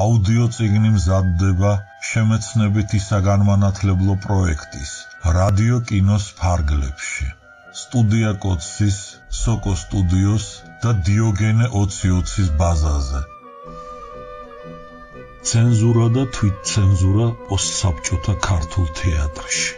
აუდიო წიგნი მზადდება შემეცნებითი საგანმანათლებლო პროექტის რადიო კინოს ფარგლებში. სტუდია კოცის, სოკო სტუდიოს და დიოგენე 2020-ის ბაზაზე. ცენზურა და თვითცენზურა პოსტსაბჭოთა ქართულ თეატრში.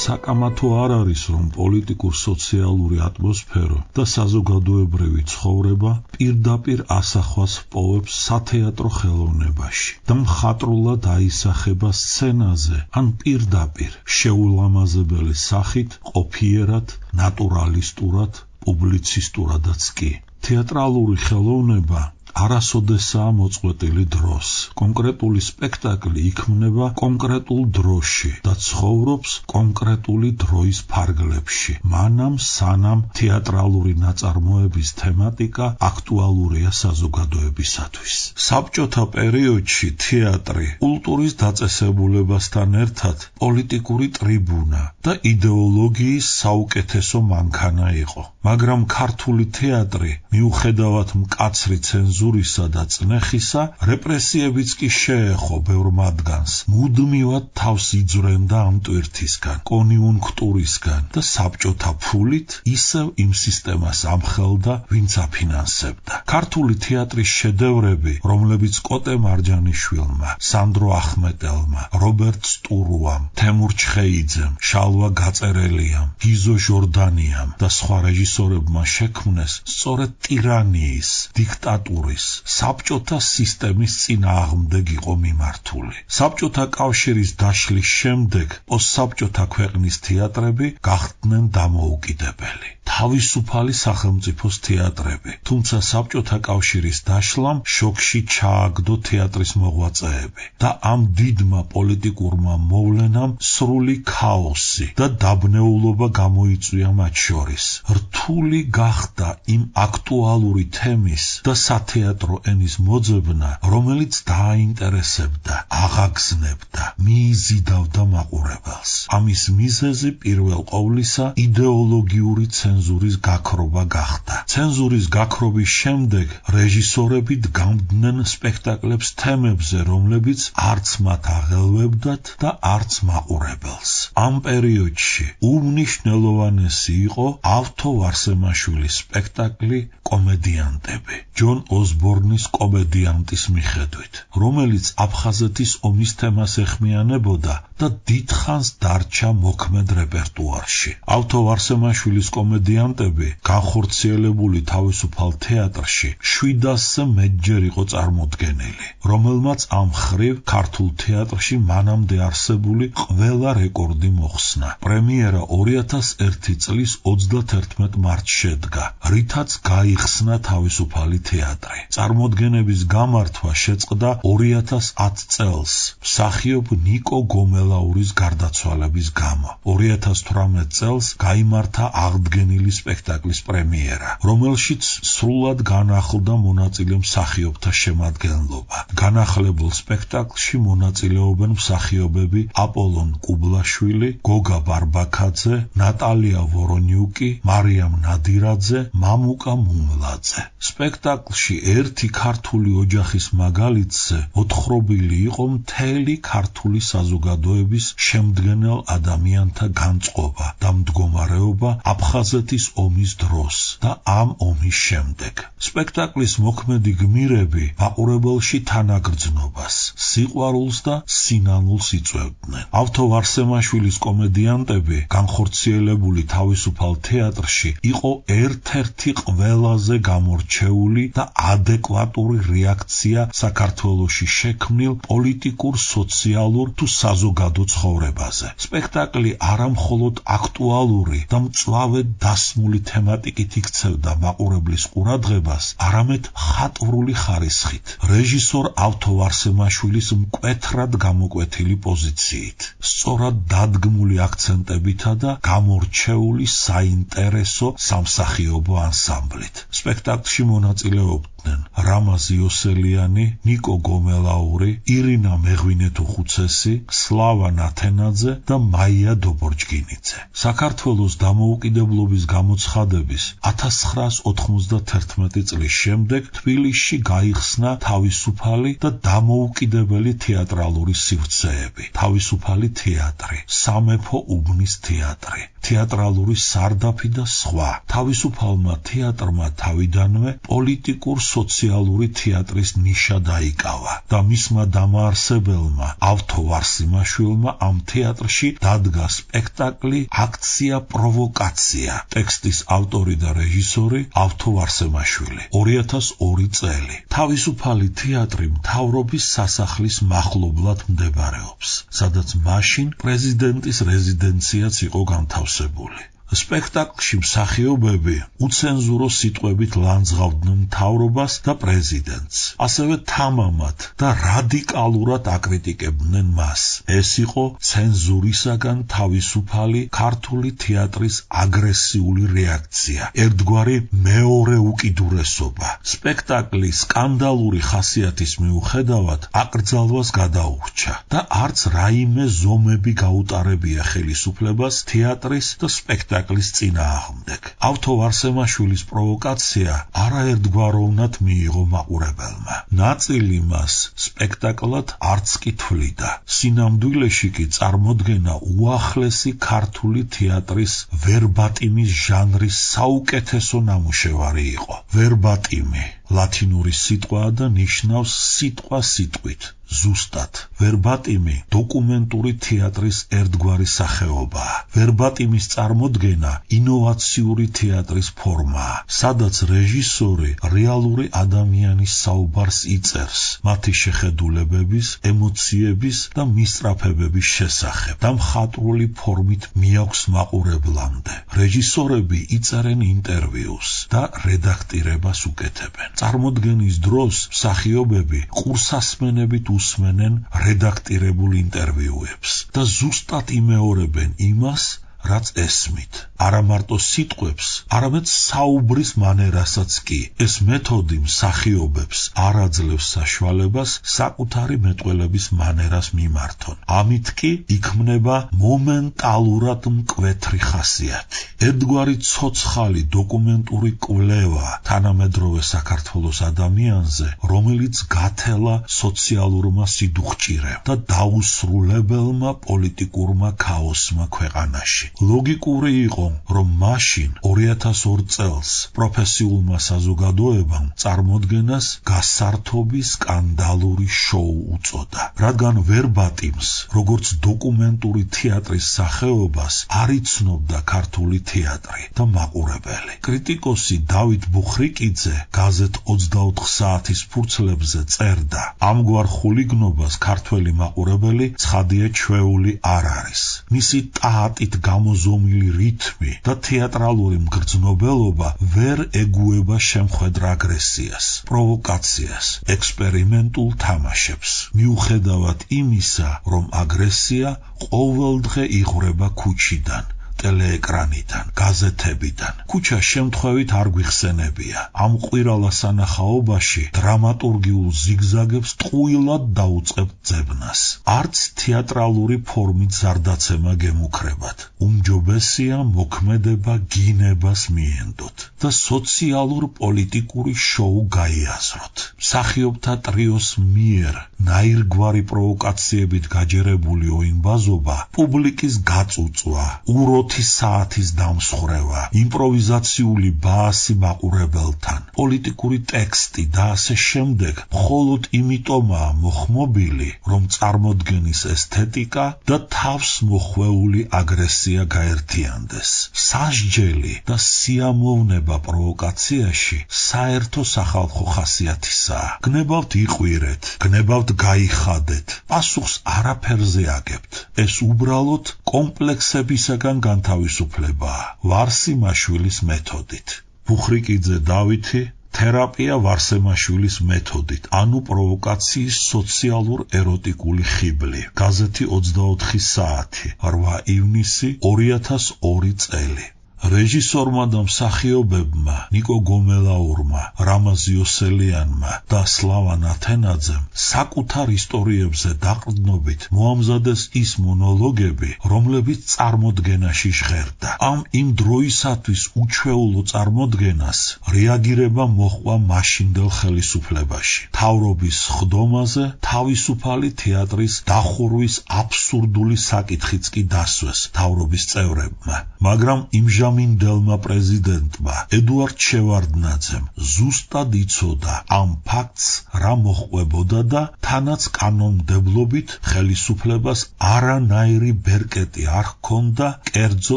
საკამათო არ არის, რომ პოლიტიკურ-სოციალური ატმოსფერო და საზოგადოებრივი ცხოვრება პირდაპირ ასახვას პოვებს სათეატრო ხელოვნებაში და მხატვრულად აისახება სცენაზე ან პირდაპირ შეულამაზებელი სახით, ყოფიერად, ნატურალისტურად, პუბლიცისტურადაც კი. თეატრალური ხელოვნება არასოდესაა მოწყვეტილი დროს. კონკრეტული სპექტაკლი იქმნება კონკრეტულ დროში და ცხოვრობს კონკრეტული დროის ფარგლებში. მანამ სანამ თეატრალური ნაწარმოების თემატიკა აქტუალურია საზოგადოებისათვის. საბჭოთა პერიოდში თეატრი კულტურის დაწესებულებასთან ერთად პოლიტიკური ტრიბუნა და იდეოლოგიის საუკეთესო მანქანა იყო. მაგრამ ქართული თეატრი მიუხედავად მკაცრი ცენზურისა და წნეხისა, რეპრესიებიც კი შეეხო ბევრ მათგანს. მუდმივად თავს იძვრენდა ამ ტვირთისგან, კონიუნქტურისგან და საბჭოთა ფულით ისევ იმ სისტემას ამხელდა, ვინც აფინანსებდა. ქართული თეატრის შედევრები, რომლებიც კოტე მარჯანიშვილმა, სანდრო ახმეტელმა, რობერტ სტურუამ, თემურ ჩხეიძემ, შალვა გაწერელიამ, გიზო ჟორდანიამ და სხვა რეჟისორებმა შექმნეს, სწორედ ტირანიის, დიქტატურის, საბჭოთა სისტემის წინააღმდეგ იყო მიმართული. საბჭოთა კავშირის დაშლის შემდეგ პოსტსაბჭოთა ქვეყნის თეატრები გახდნენ დამოუკიდებელი. თავისუფალი სახელმწიფოს თეატრები, თუმცა საბჭოთა კავშირის დაშლამ შოკში ჩააგდო თეატრის მოღვაწეები და ამ დიდმა პოლიტიკურმა მოვლენამ სრული ქაოსი და დაბნეულობა გამოიწვია მათ შორის. რთული გახდა იმ აქტუალური თემის და სათეატრო ენის მოძებნა, რომელიც დააინტერესებდა, აღაგზნებდა, მიიზიდავდა მაყურებელს. ამის მიზეზი პირველ ყოვლისა იდეოლოგიური ცენზურის გაქრობა გახდა. ცენზურის გაქრობის შემდეგ რეჟისორები დგამდნენ სპექტაკლებს თემებზე, რომლებიც არც მათ აღელვებდათ და არც მაყურებელს. ამ პერიოდში უმნიშვნელოვანესი იყო ავთო ვარსემაშვილის სპექტაკლი კომედიანტები, ჯონ ოსბორნის კომედიანტის მიხედვით, რომელიც აფხაზეთის ომის თემას ეხმიანებოდა და დიდხანს დარჩა მოქმედ რეპერტუარში. ავთო ვარსემაშვილის კომედიანტები განხორციელებული თავისუფალ თეატრში 700-ზე მეტჯერ იყო წარმოდგენილი, რომელმაც ამ ხრივ ქართულ თეატრში მანამდე არსებული ყველა რეკორდი მოხსნა. პრემიერა 2001 წლის 31 მარტს შედგა, რითაც გაიხსნა თავისუფალი თეატრი. წარმოდგენების გამართვა შეწყდა 2010 წელს, მსახიობ ნიკო გომელაურის გარდაცვალების გამო. 2018 წელს გაიმართა აღდგენილი სპექტაკლის პრემიერა, რომელშიც სრულად განახლდა მონაწილე მსახიობთა შემადგენლობა. განახლებულ სპექტაკლში მონაწილეობენ მსახიობები აპოლონ კუბლაშვილი, გოგა ბარბაქაძე, ნატალია ვორონიუკი, მარიამ ნადირაძე, მამუკა მუმლაძე. სპექტაკლში ერთი ქართული ოჯახის მაგალითზე მოთხრობილი იყო მთელი ქართული საზოგადოების შემდგენელ ადამიანთა განწყობა და მდგომარეობა აფხაზეთის ომის დროს და ამ ომის შემდეგ. სპექტაკლის მოქმედი გმირები მაყურებელში თანაგრძნობას, სიყვარულს და სინანულს იწვევდნენ. ავთო ვარსემაშვილის კომედიანტები განხორციელებული თავისუფალ თეატრში იყო ერთ-ერთი ყველაზე გამორჩეული და ადეკვატური რეაქცია საქართველოში შექმნილ პოლიტიკურ, სოციალურ თუ საზოგადო ცხოვრებაზე. სპექტაკლი არამხოლოდ აქტუალური და მწვავე დასმული თემატიკით იქცევდა მაყურებლის ყურადღებას, არამედ ხატვრული ხარისხით, რეჟისორ ავთო ვარსემაშვილის მკვეთრად გამოკვეთილი პოზიციით, სწორად დადგმული აქცენტებითა და გამორჩეული საინტერესო სამსახიობო ანსამბლით. სპექტაკლში მონაწილეობდნენ მუშაობდნენ რამაზ იოსელიანი, ნიკო გომელაური, ირინა მეღვინეთუხუცესი, სლავა ნათენაძე და მაია დობორჯგინიძე. საქართველოს დამოუკიდებლობის გამოცხადების 1991 წლის შემდეგ თბილისში გაიხსნა თავისუფალი და დამოუკიდებელი თეატრალური სივრცეები, თავისუფალი თეატრი, სამეფო უბნის თეატრი, თეატრალური სარდაფი და სხვა. თავისუფალმა თეატრმა თავიდანვე პოლიტიკურ-სოციალური თეატრის ნიშა დაიკავა და მისმა დამაარსებელმა ავთო ვარსიმაშვილმა ამ თეატრში დადგა სპექტაკლი „აქცია პროვოკაცია“. ტექსტის ავტორი და რეჟისორი ავთო ვარსიმაშვილი. 2002 წელი. თავისუფალი თეატრი მთავრობის სასახლის მახლობლად მდებარეობს, სადაც მაშინ პრეზიდენტის რეზიდენციაც იყო განთავსებული. სპექტაკლში მსახიობები უცენზურო სიტყვებით ლანძღავდნენ მთავრობას და პრეზიდენტს, ასევე თამამად და რადიკალურად აკრიტიკებდნენ მას. ეს იყო ცენზურისაგან თავისუფალი ქართული თეატრის აგრესიული რეაქცია, ერთგვარი მეორე უკიდურესობა. სპექტაკლის სკანდალური ხასიათის მიუხედავად აკრძალვას გადაურჩა და არც რაიმე ზომები გაუტარებია ხელისუფლებას თეატრის და სპექტაკლის წინააღმდეგ. ავთო ვარსემაშვილის პროვოკაცია არაერთგვაროვნად მიიღო მაყურებელმა. ნაწილი მას სპექტაკლად არც კი თვლიდა. სინამდვილეში კი წარმოდგენა უახლესი ქართული თეატრის ვერბატიმის ჟანრის საუკეთესო ნამუშევარი იყო. ვერბატიმი ლათინური სიტყვაა და ნიშნავს სიტყვა სიტყვით. ზუსტად, ვერბატიმი დოკუმენტური თეატრის ერთგვარი სახეობაა. ვერბატიმის წარმოდგენა ინოვაციური თეატრის ფორმაა, სადაც რეჟისორი რეალური ადამიანის საუბარს იწერს, მათი შეხედულებების, ემოციების და მისწრაფებების შესახებ და მხატვრული ფორმით მიაქვს მაყურებლამდე. რეჟისორები იწერენ ინტერვიუს და რედაქტირებას უკეთებენ. წარმოდგენის დროს მსახიობები ყურსასმენებით უსმენენ რედაქტირებულ ინტერვიუებს და ზუსტად იმეორებენ იმას, რაც ესმით. არა მარტო სიტყვებს, არამედ საუბრის მანერასაც კი. ეს მეთოდი მსახიობებს არ აძლევს საშუალებას საკუთარი მეტყველების მანერას მიმართონ. ამით კი იქმნება მომენტალურად მკვეთრი ხასიათი. ერთგვარი ცოცხალი დოკუმენტური კვლევა თანამედროვე საქართველოს ადამიანზე, რომელიც გათელა სოციალურმა სიდუხჭირემ და დაუსრულებელმა პოლიტიკურმა ქაოსმა ქვეყანაში. ლოგიკური იყო, რომ მაშინ 2002 წელს პროფესიულმა საზოგადოებამ წარმოდგენას გასართობი სკანდალური შოუ უწოდა, რადგან ვერბატიმს, როგორც დოკუმენტური თეატრის სახეობას არ იცნობდა ქართული თეატრი და მაყურებელი. კრიტიკოსი დავით ბუხრიკიძე გაზეთ 24 საათის ფურცლებზე წერდა: ამგვარ ხულიგნობას ქართველი მაყურებელი ცხადია ჩვეული არ არის. მისი ტაატით გამოზომილი რითმი და თეატრალური მგრძნობელობა ვერ ეგუება შემხედრ აგრესიას, პროვოკაციას, ექსპერიმენტულ თამაშებს. მიუხედავად იმისა, რომ აგრესია ყოველდღე იღვრება ქუჩიდან, ტელეეკრანიდან, გაზეთებიდან. ქუჩა შემთხვევით არ გვიხსენებია. ამ ყვირალა სანახაობაში დრამატურგიულ ზიგზაგებს ტყუილად დაუწყებთ ძებნას. არც თეატრალური ფორმით ზარდაცემა გემუქრებათ. უმჯობესია მოქმედება გინებას მიენდოთ და სოციალურ-პოლიტიკური შოუ გაიაზროთ. მსახიობთა ტრიოს მიერ ნაირგვარი პროვოკაციებით გაჯერებული ოინბაზობა, პუბლიკის გაწუწვა, უროთი საათის დამსხრევა, იმპროვიზაციული ბაასი მაყურებელთან, პოლიტიკური ტექსტი და ასე შემდეგ მხოლოდ იმიტომაა მოხმობილი, რომ წარმოდგენის ესთეტიკა და თავს მოხვეული აგრესია გაერთიანდეს. სასჯელი და სიამოვნება პროვოკაციაში საერთო სახალხო ხასიათისაა. გნებავთ იყვირეთ, გნებავთ გაიხადეთ, პასუხს არაფერზე აგებთ. ეს უბრალოდ კომპლექსებისაგან განთავისუფლებაა ვარსიმაშვილის მეთოდით. ბუხრიკიძე დავითი, თერაპია ვარსემაშვილის მეთოდით, ანუ პროვოკაციის სოციალურ-ეროტიკული ხიბლი. გაზეთი 24 საათი, 8 ივნისი 2002 წელი. რეჟისორმა და მსახიობებმა ნიკო გომელაურმა, რამაზ იოსელიანმა და სლავან ათენაძემ საკუთარ ისტორიებზე დაყრდნობით მოამზადეს ის მონოლოგები, რომლებიც წარმოდგენაში ჟღერდა. ამ იმ დროისათვის უჩვეულო წარმოდგენას რეაგირება მოჰყვა მაშინდელ ხელისუფლებაში. თავრობის ხდომაზე თავისუფალი თეატრის დახურვის აბსურდული საკითხიც კი დასვეს თავრობის წევრებმა, მაგრამ იმჟამინდელმა პრეზიდენტმა ედუარდ შევარდნაძემ ზუსტად იცოდა ამ ფაქტს რა მოჰყვებოდა და თანაც კანონმდებლობით ხელისუფლებას არანაირი ბერკეტი არ ჰქონდა კერძო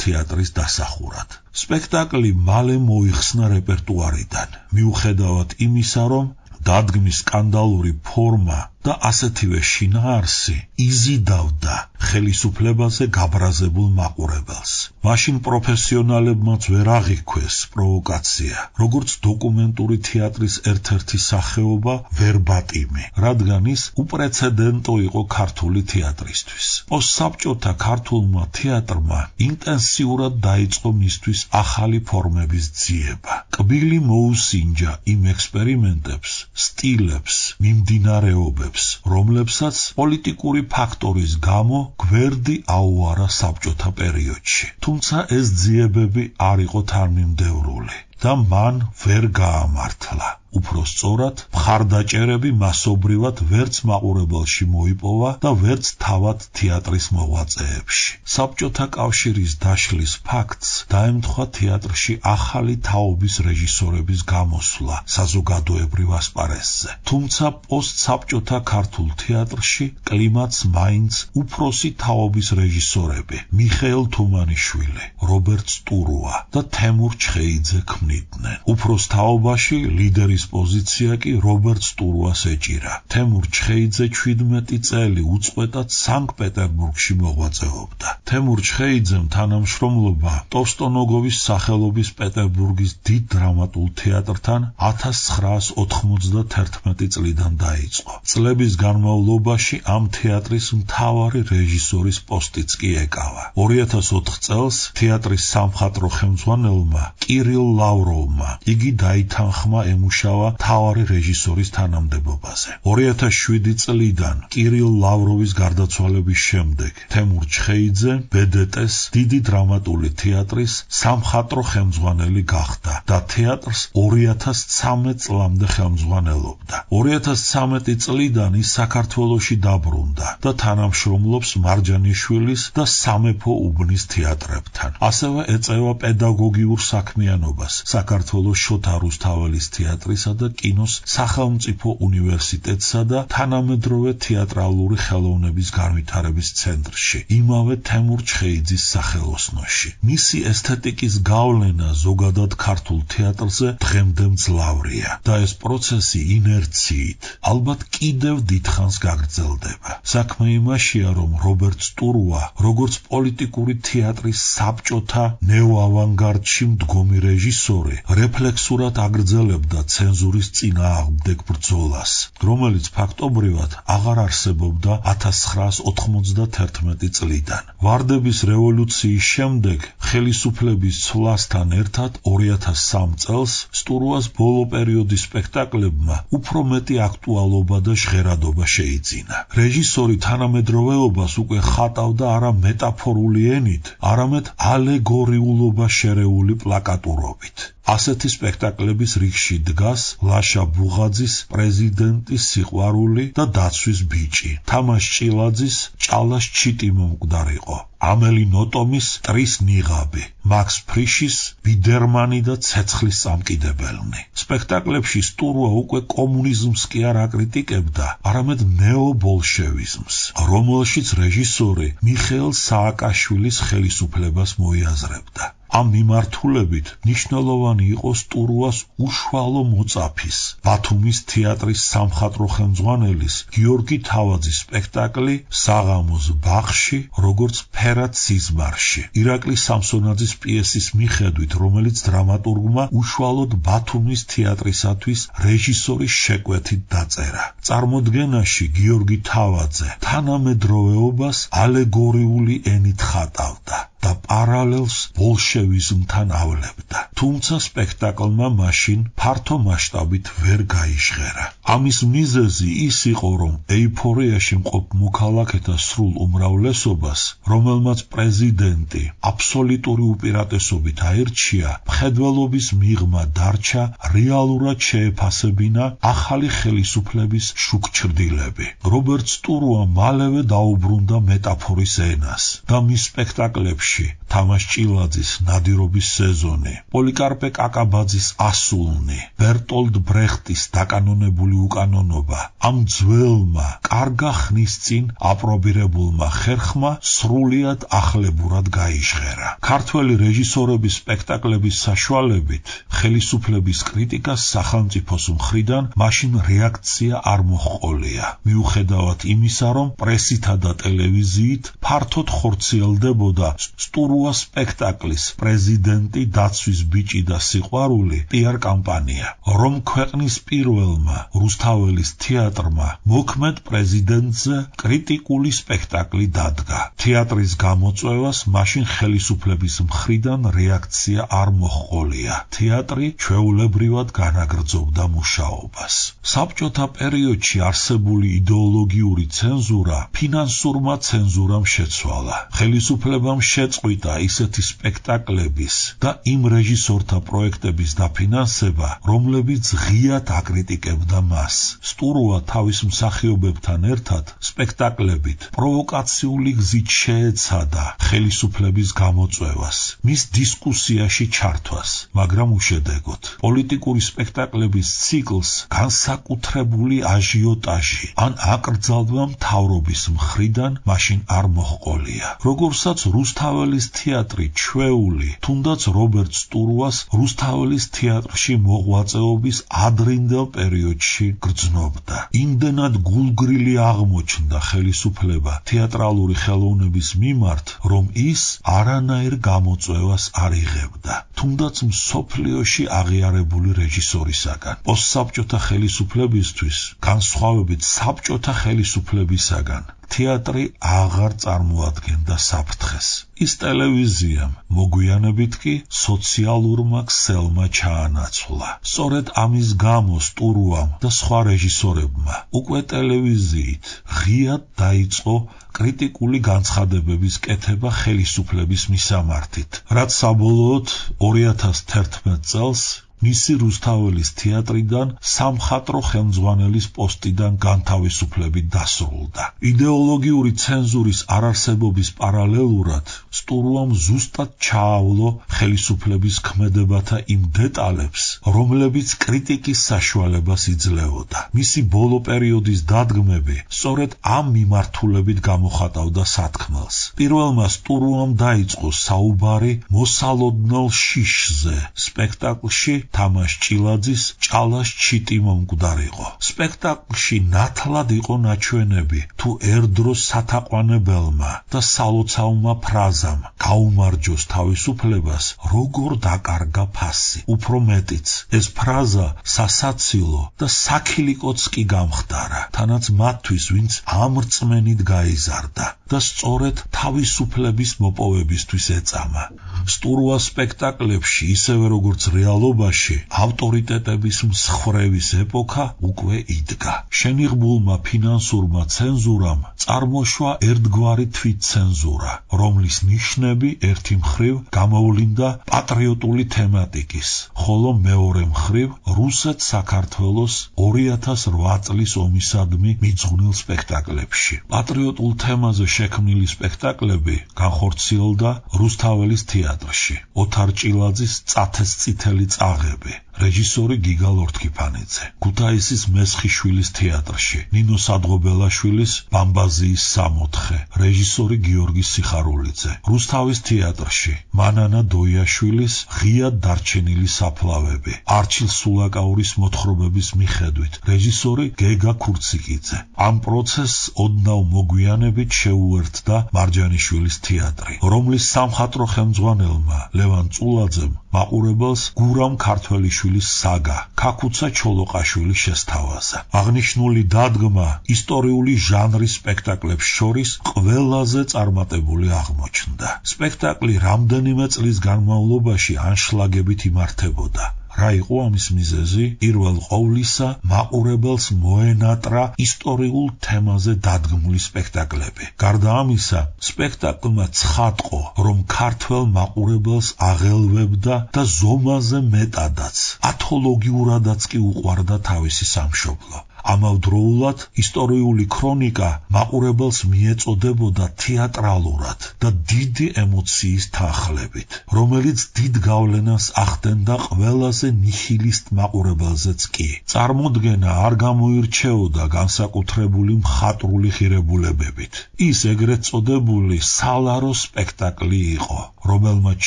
თეატრის დასახურად. სპექტაკლი მალე მოიხსნა რეპერტუარიდან, მიუხედავად იმისა, რომ დადგმის სკანდალური ფორმა და ასეთივე შინაარსი იზიდავდა ხელისუფლებაზე გაბრაზებულ მაყურებელს. მაშინ პროფესიონალებმაც ვერ აღიქვეს პროვოკაცია, როგორც დოკუმენტური თეატრის ერთ-ერთი სახეობა ვერბატიმი, რადგან ის უპრეცედენტო იყო ქართული თეატრისთვის. პოსტსაბჭოთა ქართულმა თეატრმა ინტენსიურად დაიწყო მისთვის ახალი ფორმების ძიება. კბილი მოუსინჯა იმ ექსპერიმენტებს, სტილებს, მიმდინარეობებს, რომლებსაც პოლიტიკური ფაქტორის გამო გვერდი აუარა საბჭოთა პერიოდში. თუმცა ეს ძიებები არ იყო თანმიმდევრული და მან ვერ გაამართლა. უფრო სწორად, მხარდაჭერები მასობრივად ვერც მაყურებელში მოიპოვა და ვერც თავად თეატრის მოღვაწეებში. საბჭოთა კავშირის დაშლის ფაქტს დაემთხვა თეატრში ახალი თაობის რეჟისორების გამოსვლა საზოგადოებრივ ასპარესზე. თუმცა პოსტსაბჭოთა ქართულ თეატრში კლიმატს მაინც უფროსი თაობის რეჟისორები მიხეილ თუმანიშვილი, რობერტ სტურუა და თემურ ჩხეიძე ქმნიდნენ. უფროს თაობაში ლიდერის პოზიცია კი რობერტ სტურუას ეჭირა. თემურ ჩხეიძე 17 წელი უწყვეტად სანქტ-პეტერბურგში მოღვაწეობდა. თემურ ჩხეიძემ თანამშრომლობა ტოვსტონოგოვის სახელობის პეტერბურგის დიდ დრამატულ თეატრთან 1991 წლიდან დაიწყო. წლების განმავლობაში ამ თეატრის მთავარი რეჟისორის პოსტიც კი ეკავა. 2004 წელს თეატრის სამხატვრო ხელმძღვანელმა კირილ ლავროვმა იგი დაითანხმა ემუშავა მთავარი რეჟისორის თანამდებობაზე. 2007 წლიდან კირილ ლავროვის გარდაცვალების შემდეგ თემურ ჩხეიძე ბედეტეს დიდი დრამატული თეატრის სამხატვრო ხელმძღვანელი გახდა და თეატრს 2013 წლამდე ხელმძღვანელობდა. 2013 წლიდან ის საქართველოში დაბრუნდა და თანამშრომლობს მარჯანიშვილის და სამეფო უბნის თეატრებთან. ასევე ეწევა პედაგოგიურ საქმიანობას საქართველოს შოთა რუსთაველის თეატრის და კინოს სახელმწიფო უნივერსიტეტსა და თანამედროვე თეატრალური ხელოვნების განვითარების ცენტრში, იმავე თემურ ჩხეიძის სახელოსნოში. მისი ესთეტიკის გავლენა ზოგადად ქართულ თეატრზე დღემდე მძლავრია და ეს პროცესი ინერციით ალბათ კიდევ დიდხანს გაგრძელდება. საქმე იმაშია, რომ რობერტ სტურუა, როგორც პოლიტიკური თეატრის საბჭოთა ნეოავანგარდში მდგომი რეჟისორი, რეფლექსურად აგრძელებდა ცენზურის წინააღმდეგ ბრძოლას, რომელიც ფაქტობრივად აღარ არსებობდა 1991 წლიდან. ვარდების რევოლუციის შემდეგ ხელისუფლების ცვლასთან ერთად 2003 წელს სტურუას ბოლო პერიოდის სპექტაკლებმა უფრო მეტი აქტუალობა და ჟღერადობა შეიძინა. რეჟისორი თანამედროვეობას უკვე ხატავდა არა მეტაფორული ენით, არამედ ალეგორიულობა შერეული პლაკატურობით. ასეთი სპექტაკლების რიგში დგას ლაშა ბუღაძის პრეზიდენტის სიყვარული და დაცვის ბიჭი, თამაშ ჭილაძის ჭალას ჩიტი მომკვდარიყო, ამელი ნოტომის ტრის ნიღაბი, მაქს ფრიშის ბიდერმანი და ცეცხლის წამკიდებელნი. სპექტაკლებში სტურუა უკვე კომუნიზმს კი არ აკრიტიკებდა, არამედ ნეობოლშევიზმს, რომელშიც რეჟისორი მიხეილ სააკაშვილის ხელისუფლებას მოიაზრებდა. ამ მიმართულებით მნიშვნელოვანი იყო სტურუას უშუალო მოწაფის, ბათუმის თეატრის სამხატვრო ხელმძღვანელის გიორგი თავაძის სპექტაკლი საღამოს ბაღში, როგორც ფერად სიზმარში, ირაკლი სამსონაძის პიესის მიხედვით, რომელიც დრამატურგმა უშუალოდ ბათუმის თეატრისათვის რეჟისორის შეკვეთით დაწერა. წარმოდგენაში გიორგი თავაძე თანამედროვეობას ალეგორიული ენით ხატავდა. და პარალელს ბოლშევიზმთან ავლებდა. თუმცა სპექტაკლმა მაშინ ფართო მასშტაბით ვერ გაიჟღერა. ამის მიზეზი ის იყო, რომ ეიფორიაში მყოფ მოქალაქეთა სრულ უმრავლესობას, რომელმაც პრეზიდენტი აბსოლუტური უპირატესობით აირჩია, მხედველობის მიღმა დარჩა რეალურად შეეფასებინა ახალი ხელისუფლების შუქჩრდილები. რობერტ სტურუა მალევე დაუბრუნდა მეტაფორის ენას და მის სპექტაკლებში თამაშ ჭილაძის ნადირობის სეზონი, პოლიკარპე კაკაბაძის ასულნი, ბერტოლდ ბრეხტის დაკანონებული უკანონობა ამ ძველმა, კარგა ხნის წინ აპრობირებულმა ხერხმა სრულიად ახლებურად გაიჟღერა. ქართველი რეჟისორების სპექტაკლების საშუალებით ხელისუფლების კრიტიკას სახელმწიფოს მხრიდან მაშინ რეაქცია არ მოჰყოლია, მიუხედავად იმისა, რომ პრესითა და ტელევიზიით ფართოდ ხორციელდებოდა სტურუას სპექტაკლის პრეზიდენტი დაცვის ბიჭი და სიყვარული პიარ კამპანია, რომ ქვეყნის პირველმა რუსთაველის თეატრმა მოქმედ პრეზიდენტზე კრიტიკული სპექტაკლი დადგა. თეატრის გამოწვევას მაშინ ხელისუფლების მხრიდან რეაქცია არ მოჰყოლია. თეატრი ჩვეულებრივად განაგრძობდა მუშაობას. საბჭოთა პერიოდში არსებული იდეოლოგიური ცენზურა ფინანსურმა ცენზურამ შეცვალა. ხელისუფლებამ შეწყვიტა ისეთი სპექტაკლების და იმ რეჟისორთა პროექტების დაფინანსება, რომლებიც ღიად აკრიტიკებდა მას. სტურუა თავის მსახიობებთან ერთად სპექტაკლებით პროვოკაციული გზით შეეცადა ხელისუფლების გამოწვევას, მის დისკუსიაში ჩართვას, მაგრამ უშედეგოდ. პოლიტიკური სპექტაკლების ციკლს განსაკუთრებული აჟიოტაჟი ან აკრძალვა მთავრობის მხრიდან მაშინ არ მოჰყოლია. როგორსაც რუსთაველის თეატრი ჩვეული, თუნდაც რობერტ სტურუას რუსთაველის თეატრში მოღვაწეობის ადრინდელ პერიოდში გრძნობდა. იმდენად გულგრილი აღმოჩნდა ხელისუფლება თეატრალური ხელოვნების მიმართ, რომ ის არანაირ გამოწვევას არ იღებდა, თუნდაც მსოფლიოში აღიარებული რეჟისორისაგან. პოსტსაბჭოთა ხელისუფლებისთვის, განსხვავებით საბჭოთა ხელისუფლებისაგან, თეატრი აღარ წარმოადგენდა საფრთხეს. ის ტელევიზიამ, მოგვიანებით კი სოციალურმა ქსელმა ჩაანაცვლა. სწორედ ამის გამო სტურუამ და სხვა რეჟისორებმა უკვე ტელევიზიით ღიად დაიწყო კრიტიკული განცხადებების კეთება ხელისუფლების მისამართით, რაც საბოლოოდ 2011 წელს მისი რუსთაველის თეატრიდან სამხატვრო ხელმძღვანელის პოსტიდან განთავისუფლებით დასრულდა. იდეოლოგიური ცენზურის არარსებობის პარალელურად სტურუამ ზუსტად ჩაავლო ხელისუფლების ქმედებათა იმ დეტალებს, რომლებიც კრიტიკის საშუალებას იძლეოდა. მისი ბოლო პერიოდის დადგმები სწორედ ამ მიმართულებით გამოხატავდა სათქმელს. პირველმა სტურუამ დაიწყო საუბარი მოსალოდნელ შიშზე სპექტაკლში თამაშ ჭილაძის ჭალას ჩიტი მომკვდარიყო. სპექტაკლში ნათლად იყო ნაჩვენები თუ ერდროს სათაყვანებელმა და სალოცავმა ფრაზამ გაუმარჯოს თავისუფლებას როგორ დაკარგა ფასი. უფრო მეტიც, ეს ფრაზა სასაცილო და საქილიკოც კი გამხდარა, თანაც მათთვის, ვინც ამ რწმენით გაიზარდა და სწორედ თავისუფლების მოპოვებისთვის ეწამა. სტურუას სპექტაკლებში, ისევე როგორც რეალობაში, ავტორიტეტების მსხვრევის ეპოქა უკვე იდგა. შენიღბულმა ფინანსურმა ცენზურამ წარმოშვა ერთგვარი თვითცენზურა, რომლის ნიშნები ერთი მხრივ გამოვლინდა პატრიოტული თემატიკის, ხოლო მეორე მხრივ რუსეთ-საქართველოს 2008 წლის ომისადმი მიძღვნილ სპექტაკლებში. პატრიოტულ თემაზე შექმნილი სპექტაკლები განხორციელდა რუსთაველის თეატრში. ოთარ ჭილაძის წათეს წითელი წაღები, რეჟისორი გიგა ლორთქიფანიძე, ქუთაისის მესხიშვილის თეატრში, ნინო სადღობელაშვილის ბამბაზიის 64, რეჟისორი გიორგი სიხარულიძე, რუსთავის თეატრში, მანანა დოიაშვილის ღიად დარჩენილი საფლავები, არჩილ სულაკაურის მოთხრობების მიხედვით, რეჟისორი გეგა ქურციკიძე. ამ პროცესს ოდნავ მოგვიანებით შეუერთდა მარჯანიშვილის თეატრი, რომლის სამხატვრო ხელმძღვანელმა ლევან წულაძემ მაყურებელს გურამ ქართველიშვილის ჭიჭილის საგა ქაქუცა ჩოლოყაშვილის შესთავაზა. აღნიშნული დადგმა ისტორიული ჟანრის სპექტაკლებს შორის ყველაზე წარმატებული აღმოჩნდა. სპექტაკლი რამდენიმე წლის განმავლობაში ანშლაგებით იმართებოდა. რა იყო ამის მიზეზი? პირველ ყოვლისა მაყურებელს მოენატრა ისტორიულ თემაზე დადგმული სპექტაკლები. გარდა ამისა, სპექტაკლმა ცხადყო, რომ ქართველ მაყურებელს აღელვებდა და ზომაზე მეტადაც, ათოლოგიურადაც კი უყვარდა თავისი სამშობლო. ამავდროულად ისტორიული ქრონიკა მაყურებელს მიეწოდებოდა თეატრალურად და დიდი ემოციის თანხლებით, რომელიც დიდ გავლენას ახდენდა ყველაზე ნიჰილისტ მაყურებელზეც კი. წარმოდგენა არ გამოირჩეოდა განსაკუთრებული მხატვრული ღირებულებებით. ის ეგრეთ წოდებული სალარო სპექტაკლი იყო, რომელმაც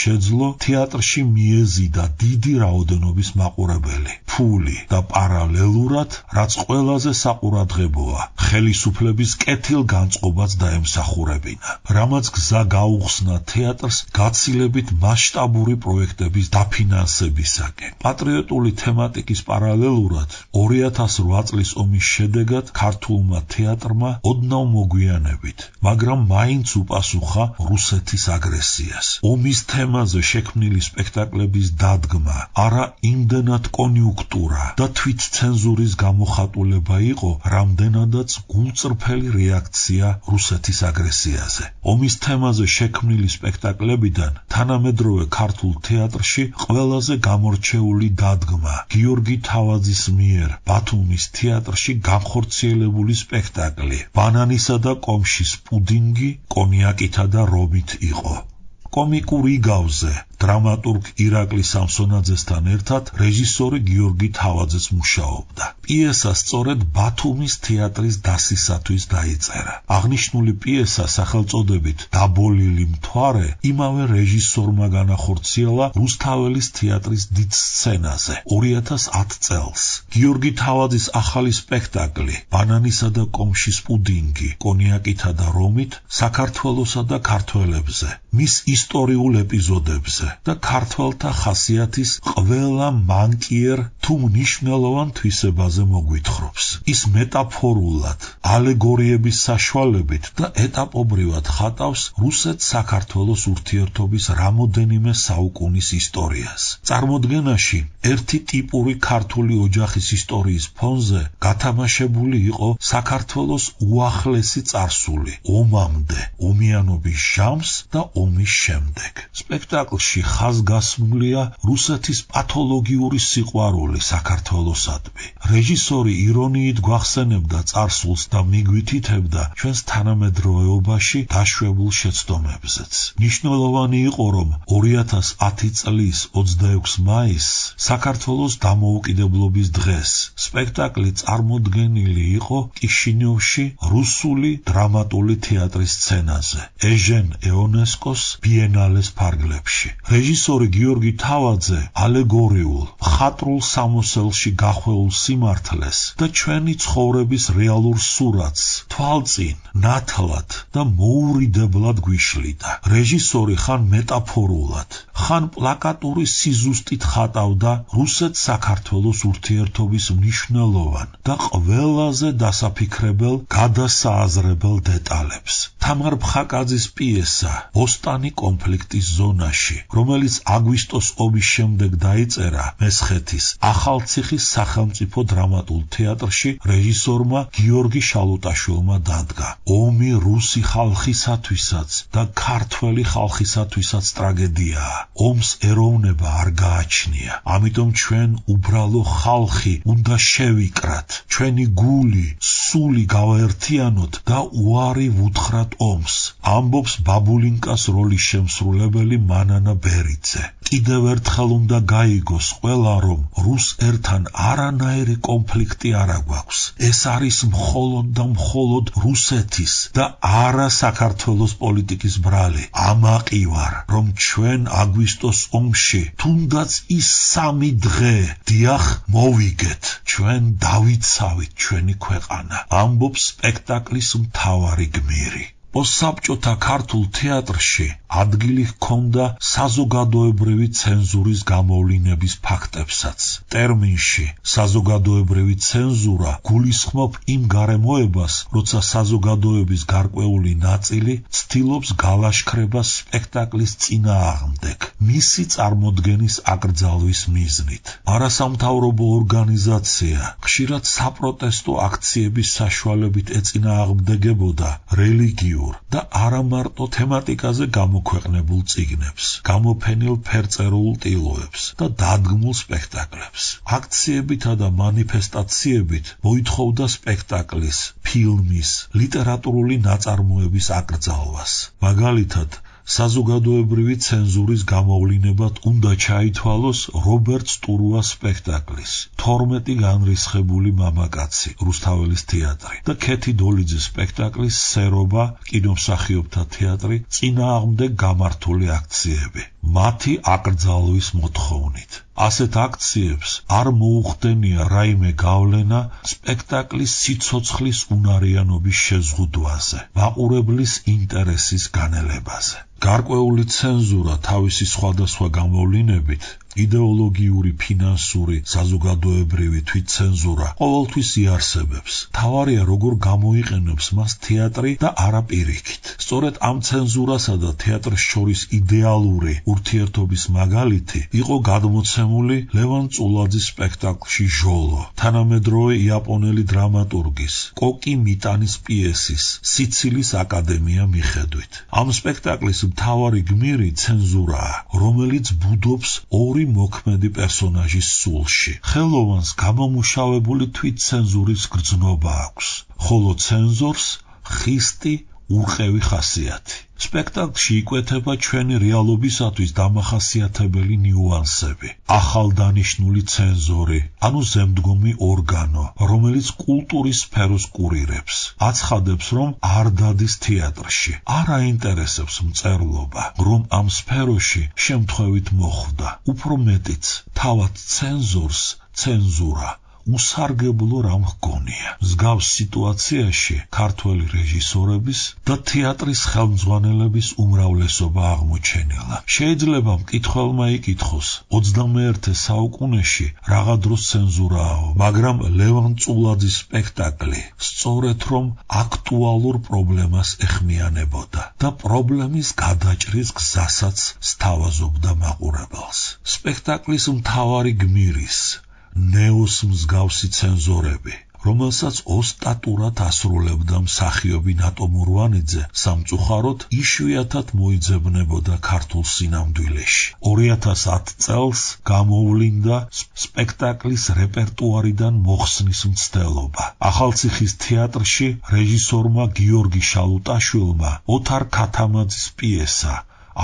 შეძლო თეატრში მიეზიდა დიდი რაოდენობის მაყურებელი. ფული და პარალელურად, რაც ყველაზე საყურადღებოა, ხელისუფლების კეთილგანწყობაც დაემსახურებინა, რამაც გზა გაუხსნა თეატრს გაცილებით მასშტაბური პროექტების დაფინანსებისაკენ. პატრიოტული თემატიკის პარალელურად 2008 წლის ომის შედეგად ქართულმა თეატრმა ოდნავ მოგვიანებით, მაგრამ მაინც უპასუხა რუსეთის აგრესიას. ომის თემაზე შექმნილი სპექტაკლების დადგმა არა იმდენად კონიუნქტურა და თვითცენზურის გამოხატულება იყო, რამდენადაც გულწრფელი რეაქცია რუსეთის აგრესიაზე. ომის თემაზე შექმნილი სპექტაკლებიდან თანამედროვე ქართულ თეატრში ყველაზე გამორჩეული დადგმა გიორგი თავაძის მიერ ბათუმის თეატრში განხორციელებული სპექტაკლი ბანანისა და კომშის პუდინგი კონიაკითა და რომით იყო. კომიკურ იგავზე დრამატურგ ირაკლი სამსონაძესთან ერთად რეჟისორი გიორგი თავაძეც მუშაობდა. პიესა სწორედ ბათუმის თეატრის დასისათვის დაიწერა. აღნიშნული პიესა სახელწოდებით „დაბოლილი მთვარე“ იმავე რეჟისორმა განახორციელა რუსთაველის თეატრის დიდ სცენაზე 2010 წელს. გიორგი თავაძის ახალი სპექტაკლი „ბანანისა და კომშის პუდინგი კონიაკითა და რომით“ საქართველოსა და ქართველებზე, მის ისტორიულ ეპიზოდებზე და ქართველთა ხასიათის ყველა მანკიერ თუ მნიშვნელოვან თვისებაზე მოგვითხრობს. ის მეტაფორულად, ალეგორიების საშუალებით და ეტაპობრივად ხატავს რუსეთ-საქართველოს ურთიერთობის რამოდენიმე საუკუნის ისტორიას. წარმოდგენაში ერთი ტიპური ქართული ოჯახის ისტორიის ფონზე გათამაშებული იყო საქართველოს უახლესი წარსული ომამდე, ომიანობის ჟამს და ომის შემდეგ. სპექტაკლში ხაზგასმულია რუსეთის პათოლოგიური სიყვარული საქართველოსადმი. რეჟისორი ირონიით გვახსენებდა წარსულს და მიგვითითებდა ჩვენს თანამედროვეობაში დაშვებულ შეცდომებზეც. მნიშვნელოვანი იყო, რომ 2010 წლის 26 მაისს, საქართველოს დამოუკიდებლობის დღეს, სპექტაკლი წარმოდგენილი იყო კიშინიოვში რუსული დრამატული თეატრის სცენაზე, ეჟენ იონესკოს ბიენალეს ფარგლებში. რეჟისორი გიორგი თავაძე ალეგორიულ, მხატვრულ სამოსელში გახვეულ სიმართლეს და ჩვენი ცხოვრების რეალურ სურათს თვალწინ, ნათლად და მოურიდებლად გვიშლიდა. რეჟისორი ხან მეტაფორულად, ხან პლაკატური სიზუსტით ხატავდა რუსეთ-საქართველოს ურთიერთობის მნიშვნელოვან და ყველაზე დასაფიქრებელ გადასააზრებელ დეტალებს. თამარ ფხაკაძის პიესა „ბოსტანი კონფლიქტის ზონაში“, რომელიც აგვისტოს ომის შემდეგ დაიწერა მესხეთის ახალციხის სახელმწიფო დრამატულ თეატრში, რეჟისორმა გიორგი შალუტაშვილმა დადგა. ომი რუსი ხალხისათვისაც და ქართველი ხალხისათვისაც ტრაგედიაა. ომს ეროვნება არ გააჩნია. ამიტომ ჩვენ უბრალო ხალხი უნდა შევიკრათ. ჩვენი გული, სული გავაერთიანოთ და უარი ვუთხრათ ომს. ამბობს ბაბულინკას როლის შემსრულებელი მანანა ბერიძე. კიდევ ერთხელ უნდა გაიგოს ყველა, რომ რუს ერთან არანაირი კონფლიქტი არ აგვაქვს. ეს არის მხოლოდ და მხოლოდ რუსეთის და არა საქართველოს პოლიტიკის ბრალი. ამაყი ვარ, რომ ჩვენ აგვისტოს ომში თუნდაც ის 3 დღე დიახ მოვიგეთ, ჩვენ დავიცავით ჩვენი ქვეყანა, ამბობს სპექტაკლის მთავარი გმირი. პოსტსაბჭოთა ქართულ თეატრში ადგილი ჰქონდა საზოგადოებრივი ცენზურის გამოვლინების ფაქტებსაც. ტერმინში საზოგადოებრივი ცენზურა გულისხმობ იმ გარემოებას, როცა საზოგადოების გარკვეული ნაწილი ცდილობს გალაშქრებას სპექტაკლის წინააღმდეგ, მისი წარმოდგენის აკრძალვის მიზნით. არასამთავრობო ორგანიზაცია ხშირად საპროტესტო აქციების საშუალებით ეწინააღმდეგებოდა რელიგიურ და არა მარტო თემატიკაზე გამოქვეყნებულ წიგნებს, გამოფენილ ფერწერულ ტილოებს და დადგმულ სპექტაკლებს. აქციებითა და მანიფესტაციებით მოითხოვდა სპექტაკლის, ფილმის, ლიტერატურული ნაწარმოების აკრძალვას. მაგალითად, საზოგადოებრივი ცენზურის გამოვლინებად უნდა ჩაითვალოს რობერტ სტურუას სპექტაკლის 12 განრისხებული მამაკაცი რუსთაველის თეატრი და ქეთი დოლიძის სპექტაკლის სერობა კინომსახიობთა თეატრი წინააღმდეგ გამართული აქციები მათი აკრძალვის მოთხოვნით. ასეთ აქციებს არ მოუხდენია რაიმე გავლენა სპექტაკლის სიცოცხლის უნარიანობის შეზღუდვაზე, მაყურებლის ინტერესის განელებაზე. გარკვეული ცენზურა თავისი სხვადასხვა გამოვლინებით, იდეოლოგიური, ფინანსური, საზოგადოებრივი თვითცენზურა ყოველთვის იარსებებს. თავარია როგორ გამოიყენებს მას თეატრი და არა პირიქით. სწორედ ამ ცენზურასა და თეატრს შორის იდეალური ურთიერთობის მაგალითი იყო გადმოცემული ლევან წულაძის სპექტაკლში ჟოლო, თანამედროვე იაპონელი დრამატურგის კოკი მიტანის პიესის სიცილის აკადემია მიხედვით. ამ სპექტაკლის მთავარი გმირი ცენზურაა, რომელიც ბუდობს ორი მოქმედი პერსონაჟის სულში. ხელოვანს გამომუშავებული თვითცენზურის გრძნობა აქვს, ხოლო ცენზორს ხისტი ურყევი ხასიათი. სპექტაკლში იკვეთება ჩვენი რეალობისათვის დამახასიათებელი ნიუანსები. ახალდანიშნული ცენზორი, ანუ ზემდგომი ორგანო, რომელიც კულტურის სფეროს კურირებს, აცხადებს, რომ არ დადის თეატრში. არ აინტერესებს მწერლობა, რომ ამ სფეროში შემთხვევით მოხვდა. უფრო მეტიც, თავად ცენზორს ცენზურა უსარგებლო რამ ჰგონია. მსგავს სიტუაციაში ქართველი რეჟისორების და თეატრის ხელმძღვანელების უმრავლესობა აღმოჩენილა. შეიძლება მკითხველმა იკითხოს, 21 საუკუნეში რაღა დროს ცენზურააო, მაგრამ ლევან წულაძის სპექტაკლი სწორედ რომ აქტუალურ პრობლემას ეხმიანებოდა და პრობლემის გადაჭრის გზასაც სთავაზობდა მაყურებელს. სპექტაკლის მთავარი გმირის ნეოს მსგავსი ცენზორები, რომელსაც ოსტატურად ასრულებდა მსახიობი ნატო მურვანიძე, სამწუხაროდ იშვიათად მოიძებნებოდა ქართულ სინამდვილეში. 2010 წელს გამოვლინდა სპექტაკლის რეპერტუარიდან მოხსნის მცდელობა. ახალციხის თეატრში რეჟისორმა გიორგი შალუტაშვილმა ოთარ ქათამაძის პიესა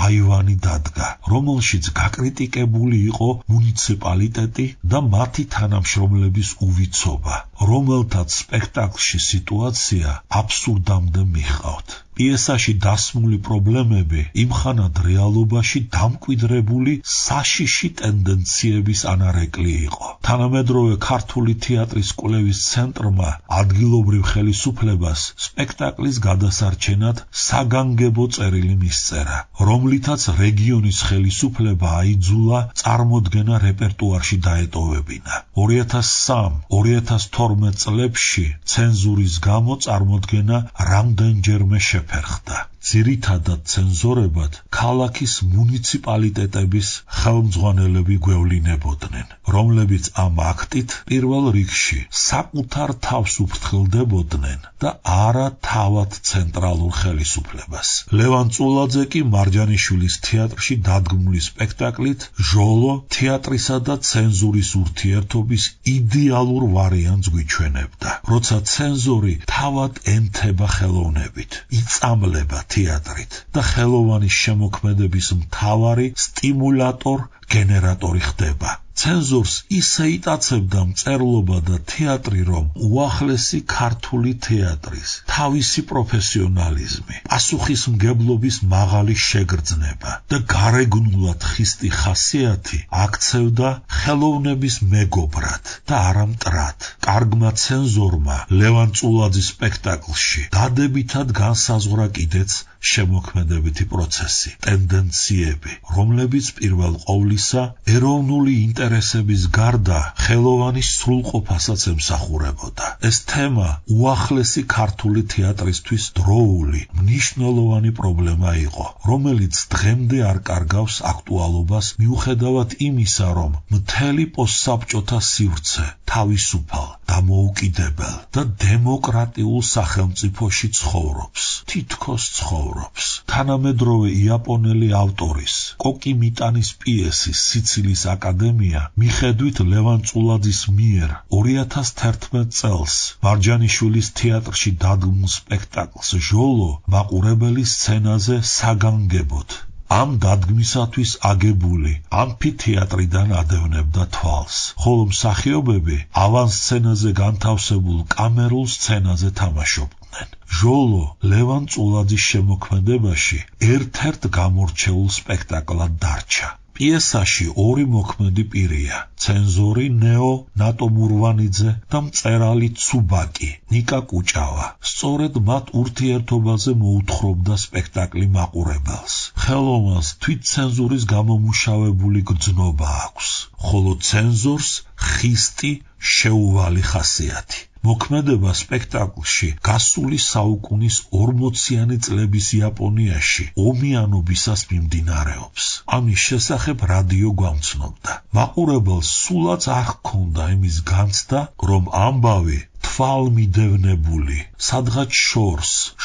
აივანი დადგა, რომელშიც გაკრიტიკებული იყო მუნიციპალიტეტი და მათი თანამშრომლების უვიცობა, რომელთაც სპექტაკლში სიტუაცია აბსურდამდე მიჰყავთ. პიესაში დასმული პრობლემები იმხანად რეალობაში დამკვიდრებული საშიში ტენდენციების ანარეკლი იყო. თანამედროვე ქართული თეატრის კვლევის ცენტრმა ადგილობრივ ხელისუფლებას სპექტაკლის გადასარჩენად საგანგებო წერილი მისწერა, რომლითაც რეგიონის ხელისუფლება აიძულა წარმოდგენა რეპერტუარში დაეტოვებინა. 2003-2012 წლებში ცენზურის გამო წარმოდგენა რამდენჯერმე შეფერხდა. ძირითადად ცენზორებად ქალაქის მუნიციპალიტეტების ხელმძღვანელები გვევლინებოდნენ, რომლებიც ამ აქტით პირველ რიგში საკუთარ თავს უფრთხილდებოდნენ და არა თავად ცენტრალურ ხელისუფლებას. ლევან წულაძე კი მარჯანიშვილის თეატრში დადგმული სპექტაკლით ჟოლო თეატრისა და ცენზურის ურთიერთობის იდეალურ ვარიანტს გვიჩვენებდა, როცა ცენზორი თავად ემთება ხელოვნებით, იწამლება თეატრით და ხელოვანის შემოქმედების მთავარი სტიმულატორ გენერატორი ხდება. ცენზორს ისე იტაცებდა მწერლობა და თეატრი, რომ უახლესი ქართული თეატრის თავისი პროფესიონალიზმი, პასუხისმგებლობის მაღალი შეგრძნება და გარეგნულად ხისტი ხასიათი აქცევდა ხელოვნების მეგობრად და არა მტრად. კარგმა ცენზორმა ლევან წულაძის სპექტაკლში დადებითად განსაზღვრა კიდეც შემოქმედებითი პროცესი, ტენდენციები, რომლებიც პირველ ყოვლისა ეროვნული ინტერესების გარდა ხელოვანის სრულყოფასაც ემსახურებოდა. ეს თემა უახლესი ქართული თეატრისთვის დროული, მნიშვნელოვანი პრობლემა იყო, რომელიც დღემდე არ კარგავს აქტუალობას მიუხედავად იმისა, რომ მთელი პოსტსაბჭოთა სივრცე თავისუფალ, დამოუკიდებელ და დემოკრატიულ სახელმწიფოში ცხოვრობს, თითქოს ცხოვრობს. თანამედროვე იაპონელი ავტორის კოკი მიტანის პიესის სიცილის აკადემია მიხედვით ლევან წულაძის მიერ 2011 წელს მარჯანიშვილის თეატრში დადგმულ სპექტაკლს ჟოლო მაყურებელი სცენაზე საგანგებოდ ამ დადგმისათვის აგებული ამფითეატრიდან ადევნებდა თვალს, ხოლო მსახიობები ავანსცენაზე განთავსებულ კამერულ სცენაზე თამაშობდნენ. ჟოლო ლევან წულაძის შემოქმედებაში ერთ-ერთ გამორჩეულ სპექტაკლად დარჩა. პიესაში ორი მოქმედი პირია, ცენზორი ნეო ნატო მურვანიძე და მწერალი ცუბაკი ნიკა კუჭავა. სწორედ მათ ურთიერთობაზე მოუთხრობდა სპექტაკლი მაყურებელს. ხელოვნას თვითცენზურის გამომუშავებული გრძნობა აქვს, ხოლო ცენზორს ხისტი შეუვალი ხასიათი. მოქმედება სპექტაკლში გასული საუკუნის 40-იანი წლების იაპონიაში ომიანობისას მიმდინარეობს. ამის შესახებ რადიო გვამცნობდა. მაყურებელს სულაც არ ჰქონდა იმის განცდა, რომ ამბავი თვალმიდევნებული, სადღაც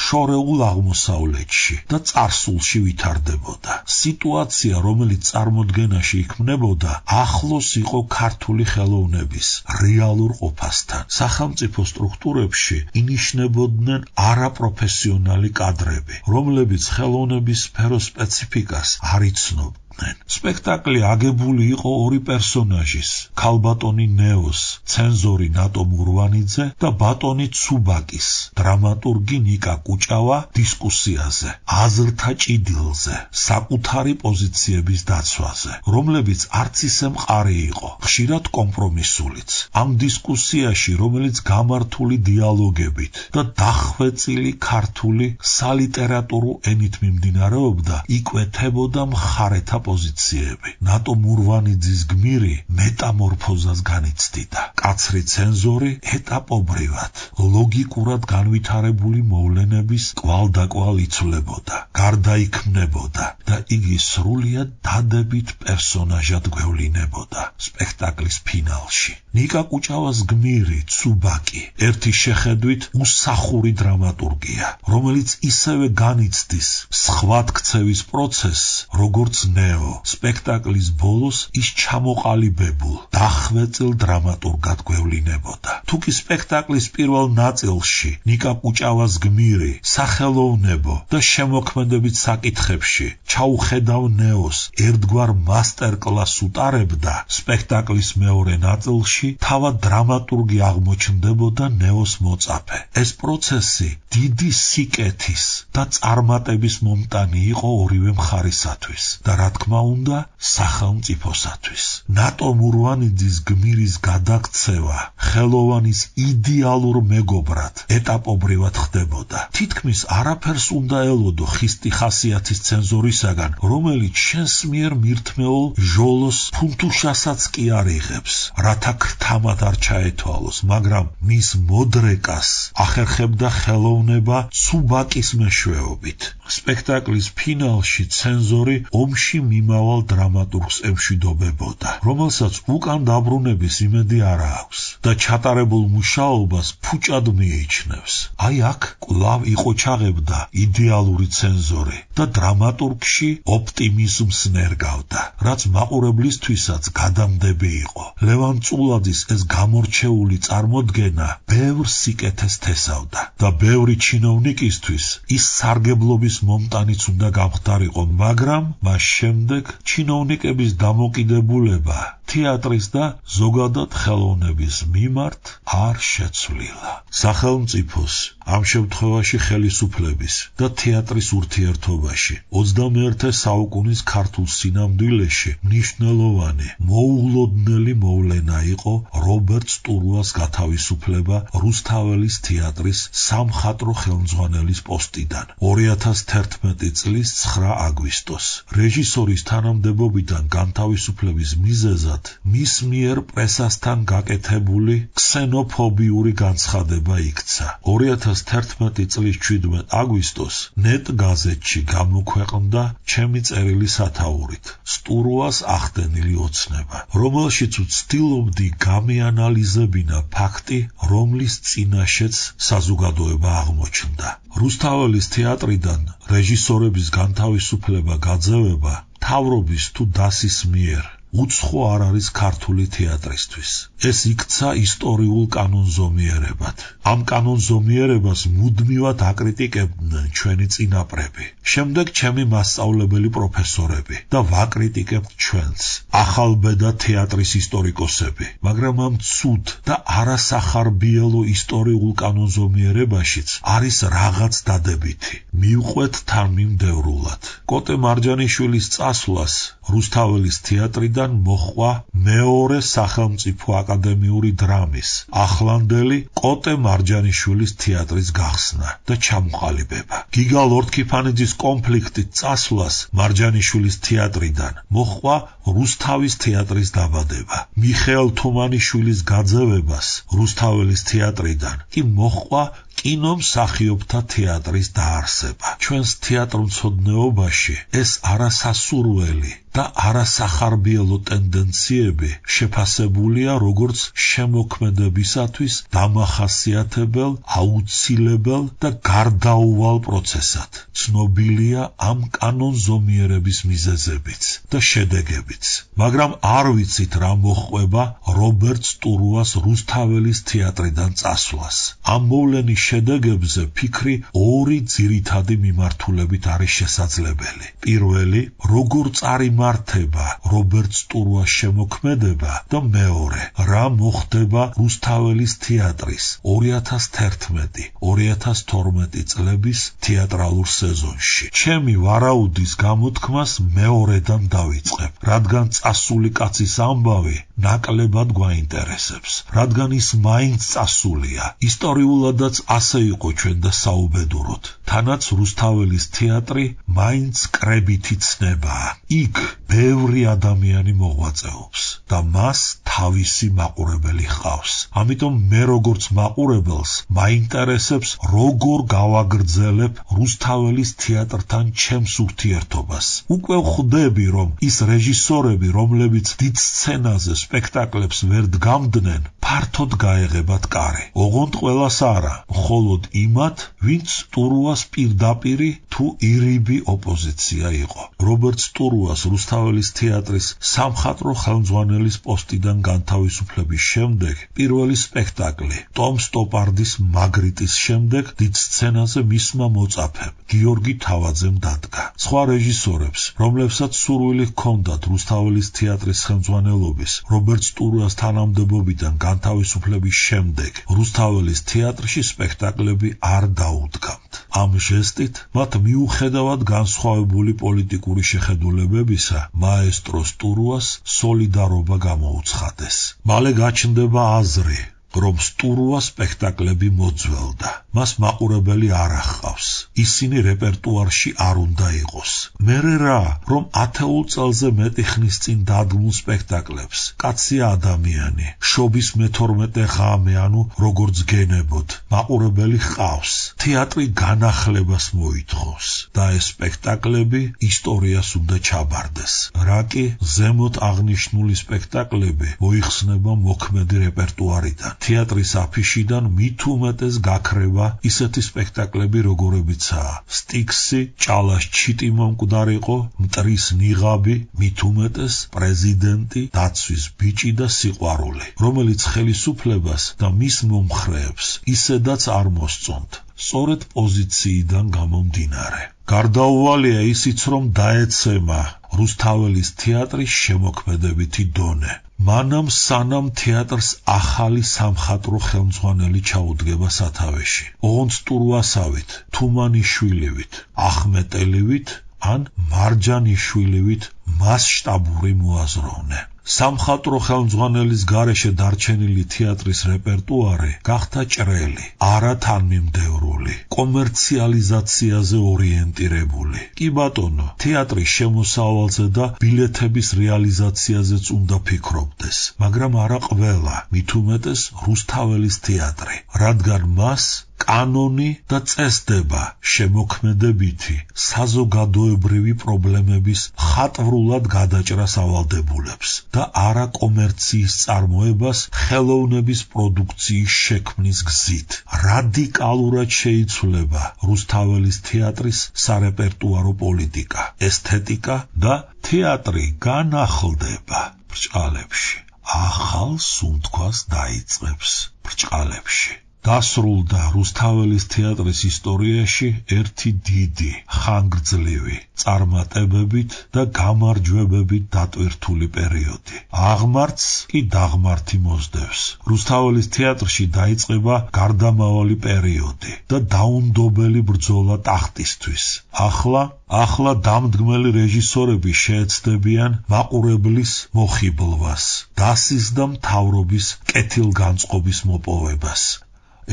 შორეულ აღმოსავლეთში და წარსულში ვითარდებოდა. სიტუაცია, რომელიც წარმოდგენაში იქმნებოდა, ახლოს იყო ქართული ხელოვნების რეალურ ყოფასთან. სახელმწიფო სტრუქტურებში ინიშნებოდნენ არაპროფესიონალი კადრები, რომლებიც ხელოვნების სფეროს სპეციფიკას არ იცნობდნენ. სპექტაკლი აგებული იყო ორი პერსონაჟის, ქალბატონი ნეოს, ცენზორი ნატო მურვანიძე და ბატონი ცუბაკის, დრამატურგი ნიკა კუჭავა დისკუსიაზე, აზრთა ჭიდილზე, საკუთარი პოზიციების დაცვაზე, რომლებიც არც ისე მყარი იყო, ხშირად კომპრომისულიც. ამ დისკუსიაში, რომელიც გამართული დიალოგებით და დახვეწილი ქართული სალიტერატურო ენით მიმდინარეობდა, იკვეთებოდა მხარეთა პოზიციები. ნატო მურვანიძის გმირი მეტამორფოზას განიცდიდა. კაცრი ცენზორი ეტაპობრივად, ლოგიკურად განვითარებული მოვლენების კვალდაკვალ იცვლებოდა, გარდაიქმნებოდა და იგი სრულიად დადებით პერსონაჟად გვევლინებოდა სპექტაკლის ფინალში. ნიკა კუჭავას გმირი ცუბაკი ერთი შეხედვით უსახური დრამატურგია, რომელიც ისევე განიცდის სხვათქცევის პროცესს, როგორც ნეო. სპექტაკლის ბოლოს ის ჩამოყალიბებულ, დახვეწილ დრამატურგად გვევლინებოდა. თუკი სპექტაკლის პირველ ნაწილში ნიკა კუჭავას გმირი სახელოვნებო და შემოქმედებით საკითხებში ჩაუხედავ ნეოს ერთგვარ მასტერკლასს უტარებდა, სპექტაკლის მეორე ნაწილში თავად დრამატურგი აღმოჩნდებოდა ნეოს მოწაფე. ეს პროცესი დიდი სიკეთის და წარმატების მომტანი იყო ორივე მხარისათვის და რა თქმა უნდა სახელმწიფოსათვის. ნატო მურვანიძის გმირის გადაქცევა ხელოვანის idеალურ მეგობრად ეტაპობრივად ხდებოდა. თითქმის არაფერს უნდა ელოდო ხისტი ხასიათის ცენზორისაგან, რომელიც შენს მიერ მირთმეულ ჟოლოს ფუნთუშასაც კი არ იღებს, რათა ქრთამად არ ჩაეთვალოს, მაგრამ მის მოდრეკას ახერხებდა ხელოვნება ცუბაკის მეშვეობით. სპექტაკლის ფინალში ცენზორი ომში მიმავალ დრამატურგს ემშვიდობებოდა, რომელსაც უკან დაბრუნების იმედი არ აქვს და ჩატარებულ მუშაობას ფუჭად მიიჩნევს. აი აქ კვლავ იყო ჩაღებდა იდეალური ცენზორი და დრამატურგ ხალხში ოპტიმიზმს ნერგავდა, რაც მაყურებლისთვისაც გადამდები იყო. ლევან წულაძის ეს გამორჩეული წარმოდგენა ბევრ სიკეთეს თესავდა და ბევრი ჩინოვნიკისთვის ის სარგებლობის მომტანიც უნდა გამხდარიყო, მაგრამ მას შემდეგ ჩინოვნიკების დამოკიდებულება თეატრის და ზოგადად ხელოვნების მიმართ არ შეცვლილა. სახელმწიფოს ამ შემთხვევაში ხელისუფლების და თეატრის ურთიერთობაში 21 საუკუნის ქართულ სინამდვილეში მნიშვნელოვანი მოულოდნელი მოვლენა იყო რობერტ სტურუას გათავისუფლება რუსთაველის თეატრის სამხატვრო ხელმძღვანელის პოსტიდან 2011 წლის 9 აგვისტოს. რეჟისორის თანამდებობიდან განთავისუფლების მიზეზად მის მიერ პრესასთან გაკეთებული ქსენოფობიური განცხადება იქცა. 2011 წლის 17 აგვისტოს ნეტ გაზეთში გამოქვეყნდა ჩემი წერილი სათაურით სტურუას ახდენილი ოცნება, რომელშიც ვცდილობდი გამეანალიზებინა ფაქტი, რომლის წინაშეც საზოგადოება აღმოჩნდა. რუსთაველის თეატრიდან რეჟისორების განთავისუფლება გაძევება მთავრობის თუ დასის მიერ უცხო არ არის ქართული თეატრისთვის. ეს იქცა ისტორიულ კანონზომიერებად. ამ კანონზომიერებას მუდმივად აკრიტიკებდნენ ჩვენი წინაპრები. შემდეგ ჩემი მასწავლებელი პროფესორები და ვაკრიტიკებთ ჩვენს, ახალბედა თეატრის ისტორიკოსები. მაგრამ ამ ცუდ და არასახარბიელო ისტორიულ კანონზომიერებაშიც არის რაღაც დადებითი. მივყვეთ თანმიმდევრულად. კოტე მარჯანიშვილის წასვლას რუსთაველის თეატრიდან მოხვა მეორე სახელმწიფო აკადემიური დრამის ახლანდელი კოტე მარჯანიშვილის თეატრის გახსნა და ჩამოყალიბება. გიგა ლორთქიფანიძის კონფლიქტით წასვლას მარჯანიშვილის თეატრიდან მოხვა რუსთავის თეატრის დაბადება. მიხეილ თუმანიშვილის გაძევებას რუსთაველის თეატრიდან კი მოხვა კინომსახიობთა თეატრის დაარსება. ჩვენს თეატრმცოდნეობაში ეს არასასურველი და არასახარბიელო ტენდენციები შეფასებულია როგორც შემოქმედებისათვის დამახასიათებელ, აუცილებელ და გარდაუვალ პროცესად. ცნობილია ამ კანონზომიერების მიზეზებიც და შედეგებიც. მაგრამ არ ვიცით რა მოჰყვება რობერტ სტურუას რუსთაველის თეატრიდან წასვლას. ამ მოვლენის შედეგებზე ფიქრი ორი ძირითადი მიმართულებით არის შესაძლებელი. პირველი, როგორ წარიმართება რობერტ სტურუას შემოქმედება და მეორე, რა მოხდება რუსთაველის თეატრის 2011-2012 წლების თეატრალურ სეზონში. ჩემი ვარაუდის გამოთქმას მეორედან დავიწყებ, რადგან წასული კაცის ამბავი ნაკლებად გვაინტერესებს, რადგან ის მაინც წასულია. ისტორიულადაც ასე იყო ჩვენ და საუბედუროთ. თანაც რუსთაველის თეატრი მაინც კრებითი ცნებაა. იქ ბევრი ადამიანი მოღვაწეობს და მას თავისი მაყურებელი ჰყავს. ამიტომ მე როგორც მაყურებელს მაინტერესებს როგორ გავაგრძელებ რუსთაველის თეატრთან ჩემს ურთიერთობას. უკვე ვხვდები, რომ ის რეჟისორები, რომლებიც დიდ სცენაზე სპექტაკლებს ვერ დგამდნენ, ფართოდ გაეღებათ კარი. ოღონდ ყველას არა, მხოლოდ იმათ, ვინც სტურუას პირდაპირი თუ ირიბი ოპოზიცია იყო. რობერტ სტურუას რუსთაველის თეატრის სამხატვრო ხელმძღვანელის პოსტიდან განთავისუფლების შემდეგ პირველი სპექტაკლი ტომ სტოპარდის მაგრიტის შემდეგ დიდ სცენაზე მისმა მოწაფემ გიორგი თავაძემ დადგა. სხვა რეჟისორებს, რომლებსაც სურვილი ჰქონდათ რუსთაველის თეატრის ხელმძღვანელობის რობერტ სტურუას თანამდებობიდან განთავისუფლების შემდეგ რუსთაველის თეატრში სპექტაკლები არ დაუდგამთ. ამ ჟესტით მათ მიუხედავად განსხვავებული პოლიტიკური შეხედულებებისა მაესტრო სტურუას სოლიდარობა გამოუცხადეს. მალე გაჩნდება აზრი, რომ სტურუა სპექტაკლები მოძველდა. მას მაყურებელი არ ახავს. ისინი რეპერტუარში არ უნდა იყოს. მერე რა, რომ 10 წელზე მეტი ხნის წინ დადგმულ სპექტაკლებს კაცია ადამიანი, შობის მე-12 ღამე, ანუ როგორც გენებოდ, მაყურებელი ჰყავს. თეატრი განახლებას მოითხოვს და ეს სპექტაკლები ისტორიას უნდა ჩაბარდეს. რა კი ზემოთ აღნიშნული სპექტაკლები მოიხსნება მოქმედი რეპერტუარიდან. თეატრის აფიშიდან მით უმეტეს გაქრება ჭრება ისეთი სპექტაკლები როგორებიცაა სტიქსი, ჭალას ჩიტი მომკვდარიყო, მტრის ნიღაბი, მით უმეტეს პრეზიდენტი, დაცვის ბიჭი და სიყვარული, რომელიც ხელისუფლებას და მის მომხრეებს ისედაც არ მოსწონთ, სწორედ პოზიციიდან გამომდინარე. გარდაუვალია ისიც, რომ დაეცემა რუსთაველის თეატრის შემოქმედებითი დონე. მანამ სანამ თეატრს ახალი სამხატვრო ხელმძღვანელი ჩაუდგება სათავეში. ოღონდ სტურვასავით, თუმანიშვილივით, ახმეტელივით ან მარჯანიშვილივით მასშტაბური მოაზროვნე. სამხატვრო ხელმძღვანელის გარეშე დარჩენილი თეატრის რეპერტუარი გახდა ჭრელი, არა თანმიმდევრული, კომერციალიზაციაზე ორიენტირებული. კი ბატონო, თეატრის შემოსავალზე და ბილეთების რეალიზაციაზეც უნდა ფიქრობდეს, მაგრამ არა ყველა, მით უმეტეს რუსთაველის თეატრი, რადგან მას კანონი და წესდება შემოქმედებითი საზოგადოებრივი პრობლემების ხატვრულად გადაჭრას ავალდებულებს და არა კომერციის წარმოებას ხელოვნების პროდუქციის შექმნის გზით. რადიკალურად შეიცვლება რუსთაველის თეატრის სარეპერტუარო პოლიტიკა, ესთეტიკა და თეატრი განახლდება ბრჭყალებში. ახალ სუნთქვას დაიწყებს ბრჭყალებში. დასრულდა რუსთაველის თეატრის ისტორიაში ერთი დიდი, ხანგრძლივი, წარმატებებით და გამარჯვებებით დატვირთული პერიოდი. აღმართს კი დაღმართი მოსდევს. რუსთაველის თეატრში დაიწყება გარდამავალი პერიოდი და დაუნდობელი ბრძოლა ტახტისთვის. ახლა დამდგმელი რეჟისორები შეეცდებიან მაყურებლის მოხიბლვას, დასის და მთავრობის კეთილგანწყობის მოპოვებას.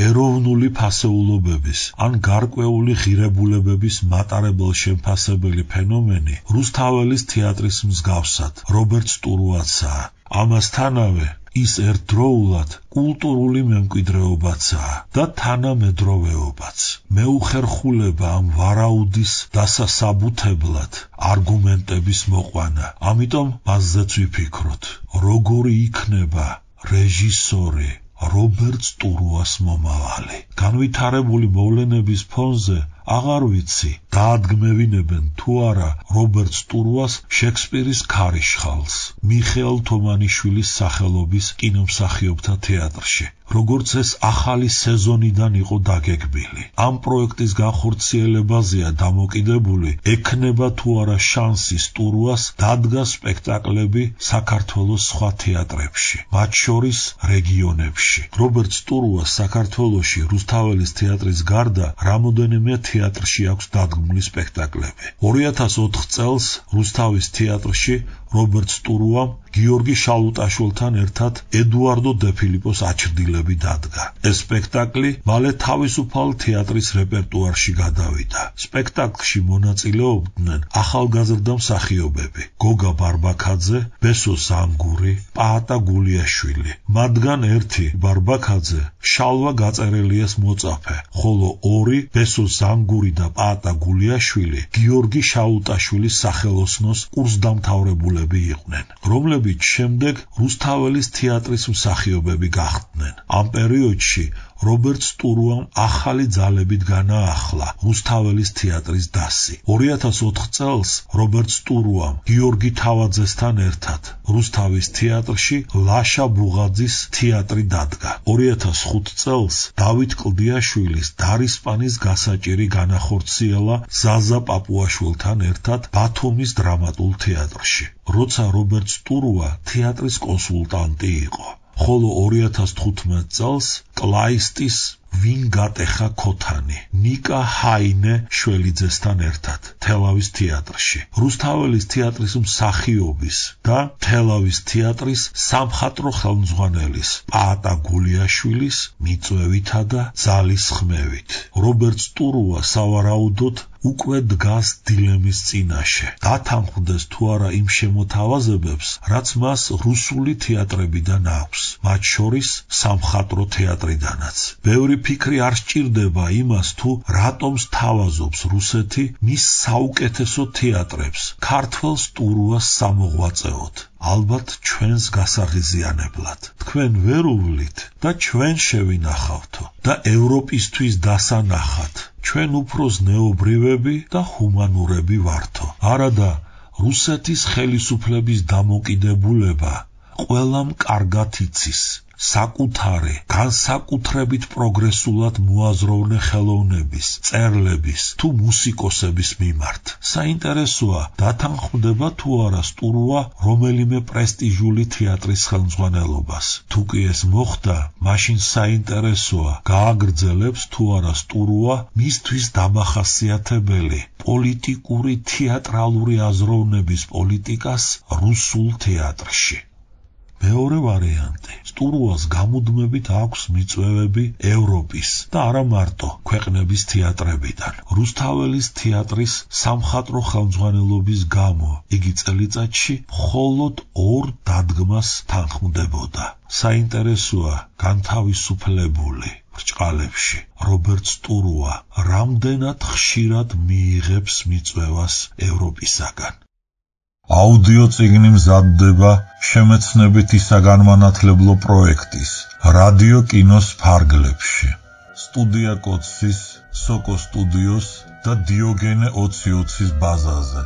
ეროვნული ფასეულობების ან გარკვეული ღირებულებების მატარებელ შემფასებელი ფენომენი რუსთაველის თეატრის მსგავსად რობერტ სტურუაცაა. ამასთანავე ის ერთდროულად კულტურული მემკვიდრეობაცაა და თანამედროვეობაც. მეუხერხულება ამ ვარაუდის დასასაბუთებლად არგუმენტების მოყვანა. ამიტომ მასზეც ვიფიქროთ, როგორი იქნება რეჟისორი რობერტ სტურუას მომავალი. განვითარებული მოვლენების ფონზე აღარ ვიცი, დაადგმევინებენ თუ არა რობერტ სტურუას შექსპირის ქარიშხალს, მიხეილ თომანიშვილის სახელობის კინომსახიობთა თეატრში, როგორც ეს ახალი სეზონიდან იყო დაგეგმილი. ამ პროექტის განხორციელებაზეა დამოკიდებული, ექნება თუ არა შანსი სტურუას დადგას სპექტაკლები საქართველოს სხვა თეატრებში, მათ შორის რეგიონებში. რობერტ სტურუას საქართველოში რუსთაველის თეატრის გარდა რამოდენიმე თეატრში აქვს დადგმული სპექტაკლები. 2004 წელს რუსთავის თეატრში რობერტ სტურუამ გიორგი შალუტაშვილთან ერთად ედუარდო დე-ფილიპოს აჩრდილები დადგა. ეს სპექტაკლი მალე თავისუფალ თეატრის რეპერტუარში გადავიდა. სპექტაკლში მონაწილეობდნენ ახალგაზრდა მსახიობები: გოგა ბარბაქაძე, ბესო ზანგური, პაატა გულიაშვილი. მათგან ერთი ბარბაქაძე შალვა გაწერელიას მოწაფე, ხოლო ორი ბესო ზანგური და პაატა გულიაშვილი გიორგი შალუტაშვილის სახელოსნოს კურსდამთავრებულები იყვნენ, რომლებიც შემდეგ რუსთაველის თეატრის მსახიობები გახდნენ. ამ პერიოდში რობერტ სტურუამ ახალი ძალებით განაახლა რუსთაველის თეატრის დასი. 2004 წელს რობერტ სტურუამ გიორგი თავაძესთან ერთად რუსთავის თეატრში ლაშა ბუღაძის თეატრი დადგა. 2005 წელს დავით კლდიაშვილის დარისპანის გასაჭირი განახორციელა ზაზა პაპუაშვილთან ერთად ბათუმის დრამატულ თეატრში, როცა რობერტ სტურუა თეატრის კონსულტანტი იყო. ხოლო 2015 წელს კლაისტის ვინ გატეხა ქოთანი ნიკა ჰაინე შველიძესთან ერთად თელავის თეატრში. რუსთაველის თეატრის მსახიობის და თელავის თეატრის სამხატვრო ხელმძღვანელის პაატა გულიაშვილის მიწვევითა და ძალის ხმევით რობერტ სტურუა სავარაუდოდ უკვე დგას დილემის წინაშე. დათანხმდეს თუ არა იმ შემოთავაზებებს, რაც მას რუსული თეატრებიდან აქვს, მათ შორის სამხატვრო თეატრიდანაც. ბევრი ფიქრი არ სჭირდება იმას, თუ რატომ სთავაზობს რუსეთი მის საუკეთესო თეატრებს ქართველ სტურუას სამოღვაწეოდ, ალბათ ჩვენს გასაღიზიანებლად. თქვენ ვერ უვლით და ჩვენ შევინახავთო და ევროპისთვის დასანახად. ჩვენ უფრო ზნეობრივები და ჰუმანურები ვართო. არადა რუსეთის ხელისუფლების დამოკიდებულება ყველამ კარგად იცის. საკუთარი, განსაკუთრებით პროგრესულად მოაზროვნე ხელოვნების, წერლების თუ მუსიკოსების მიმართ. საინტერესოა, დათანხმდება თუ არა სტურუა რომელიმე პრესტიჟული თეატრის ხელმძღვანელობას. თუ კი ეს მოხდა, მაშინ საინტერესოა, გააგრძელებს თუ არა სტურუა მისთვის დამახასიათებელი პოლიტიკური თეატრალური აზროვნების პოლიტიკას რუსულ თეატრში. მეორე ვარიანტი. სტურუას გამუდმებით აქვს მიწვევები ევროპის და არა მარტო ქვეყნების თეატრებიდან. რუსთაველის თეატრის სამხატვრო ხელმძღვანელობის გამო იგი წელიწადში მხოლოდ 2 დადგმას თანხმდებოდა. საინტერესოა, განთავისუფლებული ბრჭყალებში რობერტ სტურუა რამდენად ხშირად მიიღებს მიწვევას ევროპისაგან. აუდიო წიგნი მზადდება შემეცნებითი საგანმანათლებლო პროექტის რადიო კინოს ფარგლებში. სტუდია კოცის, სოკო სტუდიოს და დიოგენე 2020-ის ბაზაზე.